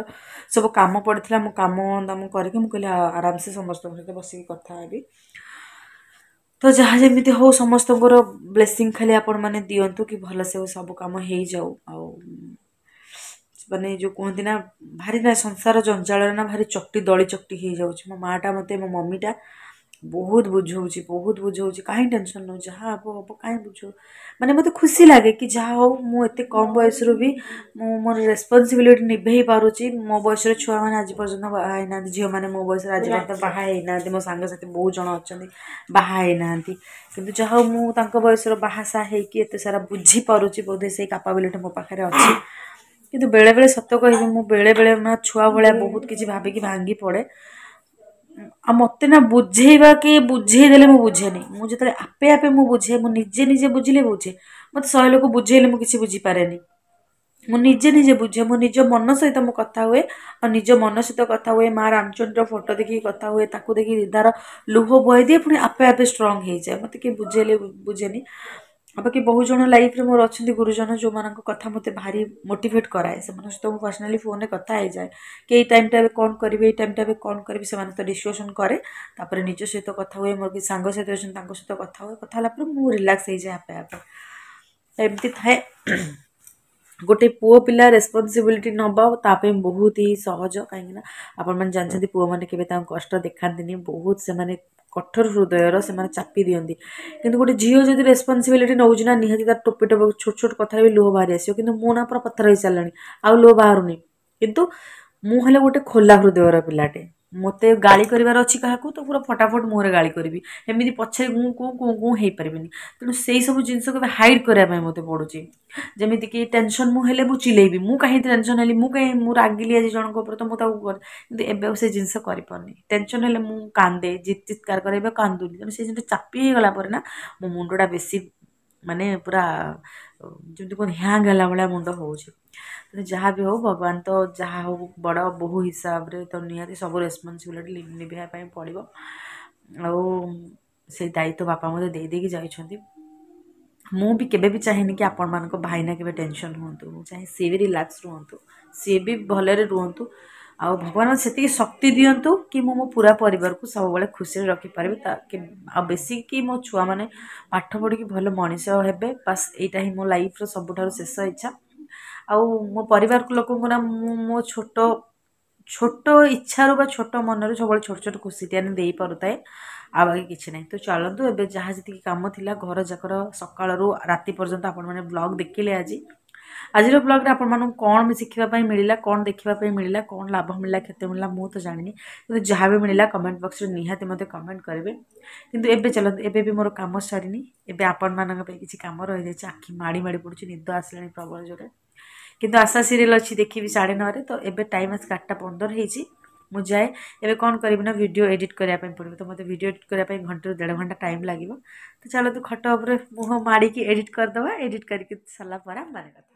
ସବୁ କାମ ପଡ଼ିଥିଲା। ମୁଁ କାମ ଦାମ କରିକି ମୁଁ କହିଲି ଆରାମସେ ସମସ୍ତଙ୍କ ସହିତ ବସିକି କଥା ହେବି। ତ ଯାହା ଯେମିତି ହଉ, ସମସ୍ତଙ୍କର ବ୍ଲେସିଂ ଖାଲି ଆପଣମାନେ ଦିଅନ୍ତୁ କି ଭଲସେ ସବୁ କାମ ହେଇଯାଉ। ଆଉ ମାନେ ଯେଉଁ କୁହନ୍ତି ନା, ଭାରି ନା ସଂସାର ଜଞ୍ଜାଳରେ ନା ଭାରି ଚକଟି ଦଳି ଚକଟି ହେଇଯାଉଛି। ମୋ ମାଆଟା ମୋତେ, ମୋ ମମିଟା ବହୁତ ବୁଝଉଛି, ବହୁତ ବୁଝଉଛି, କାହିଁ ଟେନସନ୍ ନେଉ, ଯାହା ହେବ ହେବ, କାହିଁ ବୁଝଉ। ମାନେ ମୋତେ ଖୁସି ଲାଗେ କି ଯାହା ହଉ, ମୁଁ ଏତେ କମ୍ ବୟସରୁ ବି ମୁଁ ମୋର ରେସ୍ପନ୍ସିବିଲିଟି ନିଭେଇ ପାରୁଛି। ମୋ ବୟସର ଛୁଆମାନେ ଆଜି ପର୍ଯ୍ୟନ୍ତ ବାହା ହେଇନାହାନ୍ତି, ଝିଅମାନେ ମୋ ବୟସରେ ଆଜି ପର୍ଯ୍ୟନ୍ତ ବାହା ହେଇନାହାନ୍ତି। ମୋ ସାଙ୍ଗସାଥି ବହୁତ ଜଣ ଅଛନ୍ତି ବାହା ହେଇନାହାନ୍ତି, କିନ୍ତୁ ଯାହା ହଉ ମୁଁ ତାଙ୍କ ବୟସର ବାହା ସାହା ହେଇକି ଏତେ ସାରା ବୁଝିପାରୁଛି, ବୋଧେ ସେଇ କାପାବିଲିଟି ମୋ ପାଖରେ ଅଛି। କିନ୍ତୁ ବେଳେବେଳେ ସତ କହିବି, ମୁଁ ବେଳେବେଳେ ନା ଛୁଆ ଭଳିଆ ବହୁତ କିଛି ଭାବିକି ଭାଙ୍ଗି ପଡ଼େ। ଆଉ ମୋତେ ନା ବୁଝେଇବା କି ବୁଝେଇ ଦେଲେ ମୁଁ ବୁଝେନି। ମୁଁ ଯେତେବେଳେ ଆପେ ଆପେ ମୁଁ ବୁଝେ, ମୁଁ ନିଜେ ନିଜେ ବୁଝିଲେ ବୁଝେ। ମୋତେ ଶହେ ଲୋକ ବୁଝେଇଲେ ମୁଁ କିଛି ବୁଝିପାରେନି। ମୁଁ ନିଜେ ନିଜେ ବୁଝେ, ମୋ ନିଜ ମନ ସହିତ ମୁଁ କଥା ହୁଏ। ଆଉ ନିଜ ମନ ସହିତ କଥା ହୁଏ, ମା ରାମଚଣ୍ଡୀର ଫଟୋ ଦେଖିକି କଥା ହୁଏ, ତାକୁ ଦେଖିକି ଦିଦାର ଲୁହ ବୋହାଇ ଦିଏ, ପୁଣି ଆପେ ଆପେ ଷ୍ଟ୍ରଙ୍ଗ ହେଇଯାଏ। ମୋତେ କିଏ ବୁଝେଇଲେ ବୁଝେନି। ଆଉ ବାକି ବହୁତ ଜଣ ଲାଇଫ୍ରେ ମୋର ଅଛନ୍ତି ଗୁରୁଜନ, ଯେଉଁମାନଙ୍କ କଥା ମୋତେ ଭାରି ମୋଟିଭେଟ୍ କରାଏ। ସେମାନଙ୍କ ସହିତ ମୁଁ ପର୍ସନାଲି ଫୋନ୍ରେ କଥା ହେଇଯାଏ କି ଏଇ ଟାଇମ୍ଟା ଏବେ କ'ଣ କରିବି, ଏଇ ଟାଇମ୍ଟା ଏବେ କ'ଣ କରିବି, ସେମାନଙ୍କ ସହିତ ଡିସ୍କସନ୍ କରେ। ତାପରେ ନିଜ ସହିତ କଥା ହୁଏ, ମୋର କିଛି ସାଙ୍ଗ ସହିତ ଅଛନ୍ତି ତାଙ୍କ ସହିତ କଥା ହୁଏ। କଥା ହେଲା ପରେ ମୁଁ ରିଲାକ୍ସ ହେଇଯାଏ ଆପେ ଆପେ। ଏମିତି ଥାଏ। ଗୋଟେ ପୁଅ ପିଲା ରେସ୍ପନ୍ସିବିଲିଟି ନେବା ତା ପାଇଁ ବହୁତ ହି ସହଜ, କାହିଁକିନା ଆପଣମାନେ ଜାଣିଛନ୍ତି ପୁଅମାନେ କେବେ ତାଙ୍କ କଷ୍ଟ ଦେଖାନ୍ତିନି, ବହୁତ ସେମାନେ କଠୋର ହୃଦୟର, ସେମାନେ ଚାପି ଦିଅନ୍ତି। କିନ୍ତୁ ଗୋଟେ ଝିଅ ଯଦି ରେସ୍ପନ୍ସିବିଲିଟି ନେଉଛି ନା, ନିହାତି ତାର ଟୋପେ ଟୋପେ ଛୋଟ ଛୋଟ କଥାରେ ବି ଲୁହ ବାହାରି ଆସିବ। କିନ୍ତୁ ମୁଁ ନା ପୁରା ପଥର ହେଇସାରିଲାଣି, ଆଉ ଲୁହ ବାହାରୁନି। କିନ୍ତୁ ମୁଁ ହେଲେ ଗୋଟେ ଖୋଲା ହୃଦୟର ପିଲାଟେ। ମୋତେ ଗାଳି କରିବାର ଅଛି କାହାକୁ ତ ପୁରା ଫଟାଫଟ ମୁହଁରେ ଗାଳି କରିବି, ଏମିତି ପଛରେ ଗୁଁ କୁଁ କୁଁ କୁଁ ହେଇପାରିବିନି। ତେଣୁ ସେଇ ସବୁ ଜିନିଷ କେବେ ହାଇଡ଼୍ କରିବା ପାଇଁ ମୋତେ ପଡ଼ୁଛି। ଯେମିତିକି ଟେନସନ୍ ମୁଁ ହେଲେ ମୁଁ ଚିଲେଇବି, ମୁଁ କାହିଁ ଟେନସନ୍ ହେଲି, ମୁଁ କାହିଁ ମୁଁ ରାଗିଲି ଆଜି ଜଣଙ୍କ ଉପରେ, ତ ମୁଁ ତାକୁ, କିନ୍ତୁ ଏବେ ଆଉ ସେ ଜିନିଷ କରିପାରୁନି। ଟେନସନ୍ ହେଲେ ମୁଁ କାନ୍ଦେ, ଚିତ୍କାର କରେ, ଏବେ କାନ୍ଦୁନି। ତେଣୁ ସେ ଜିନିଷ ଚାପି ହେଇଗଲା ପରେ ନା ମୋ ମୁଣ୍ଡଟା ବେଶୀ ମାନେ ପୁରା ଯେମିତି କୁହନ୍ତି ହ୍ୟାଙ୍ଗ ହେଲା ଭଳିଆ ମୁଣ୍ଡ ହେଉଛି। ତେଣୁ ଯାହା ବି ହଉ, ଭଗବାନ ତ ଯାହା ହଉ ବଡ଼ ବୋହୂ ହିସାବରେ ତ ନିହାତି ସବୁ ରେସ୍ପନ୍ସିବିଲିଟି ନିଭେଇବା ପାଇଁ ପଡ଼ିବ, ଆଉ ସେଇ ଦାୟିତ୍ୱ ବାପା ମୋତେ ଦେଇ ଦେଇକି ଯାଇଛନ୍ତି। ମୁଁ ବି କେବେ ବି ଚାହେଁନି କି ଆପଣମାନଙ୍କ ଭାଇନା କେବେ ଟେନସନ୍ ହୁଅନ୍ତୁ। ମୁଁ ଚାହେଁ ସିଏ ବି ରିଲାକ୍ସ ରୁହନ୍ତୁ, ସିଏ ବି ଭଲରେ ରୁହନ୍ତୁ, ଆଉ ଭଗବାନ ସେତିକି ଶକ୍ତି ଦିଅନ୍ତୁ କି ମୁଁ ମୋ ପୁରା ପରିବାରକୁ ସବୁବେଳେ ଖୁସିରେ ରଖିପାରିବି। ତା ଆଉ ବେଶୀ କି ମୋ ଛୁଆମାନେ ପାଠ ପଢ଼ିକି ଭଲ ମଣିଷ ହେବେ, ବାସ୍ ଏଇଟା ହିଁ ମୋ ଲାଇଫ୍ର ସବୁଠାରୁ ଶେଷ ଇଚ୍ଛା। ଆଉ ମୋ ପରିବାର ଲୋକଙ୍କୁ ନା ମୁଁ ମୋ ଛୋଟ ଛୋଟ ଇଚ୍ଛାରୁ ବା ଛୋଟ ମନରୁ ସବୁବେଳେ ଛୋଟ ଛୋଟ ଖୁସିଟି ଆଣି ଦେଇପାରୁଥାଏ, ଆଉ ବାକି କିଛି ନାହିଁ। ତ ଚାଲନ୍ତୁ, ଏବେ ଯାହା ଯେତିକି କାମ ଥିଲା ଘର ଯାକର ସକାଳରୁ ରାତି ପର୍ଯ୍ୟନ୍ତ ଆପଣମାନେ ବ୍ଲଗ୍ ଦେଖିଲେ। ଆଜି ଆଜିର ବ୍ଲଗ୍ରେ ଆପଣମାନଙ୍କୁ କ'ଣ ବି ଶିଖିବା ପାଇଁ ମିଳିଲା, କ'ଣ ଦେଖିବା ପାଇଁ ମିଳିଲା, କ'ଣ ଲାଭ ମିଳିଲା, କ୍ଷତି ମିଳିଲା, ମୁଁ ତ ଜାଣିନି, କିନ୍ତୁ ଯାହା ବି ମିଳିଲା କମେଣ୍ଟ ବକ୍ସରେ ନିହାତି ମୋତେ କମେଣ୍ଟ କରିବେ। କିନ୍ତୁ ଏବେ ଚାଲନ୍ତୁ, ଏବେ ବି ମୋର କାମ ସରିନି, ଏବେ ଆପଣମାନଙ୍କ ପାଇଁ କିଛି କାମ ରହିଯାଇଛି। ଆଖି ମାଡ଼ି ମାଡ଼ି ପଡ଼ୁଛି, ନିଦ ଆସିଲାଣି ପ୍ରବଳ ଜୋରେ, କିନ୍ତୁ ଆଶା ସିରିଏଲ୍ ଅଛି ଦେଖିବି ସାଢ଼େ ନଅରେ। ତ ଏବେ ଟାଇମ୍ ଆସିକି ଆଠଟା ପନ୍ଦର ହେଇଛି। ମୁଁ ଯାଏ, ଏବେ କ'ଣ କରିବି ନା ଭିଡ଼ିଓ ଏଡ଼ିଟ୍ କରିବା ପାଇଁ ପଡ଼ିବ, ତ ମୋତେ ଭିଡ଼ିଓ ଏଡ଼ିଟ୍ କରିବା ପାଇଁ ଘଣ୍ଟେରୁ ଦେଢ଼ ଘଣ୍ଟା ଟାଇମ୍ ଲାଗିବ। ତ ଚାଲନ୍ତୁ, ଖଟ ଉପରେ ମୁହଁ ମାଡ଼ିକି ଏଡ଼ିଟ୍ କରିଦେବା। ଏଡ଼ିଟ୍ କରିକି ସରିଲା ପରେ ଆମେ କଥା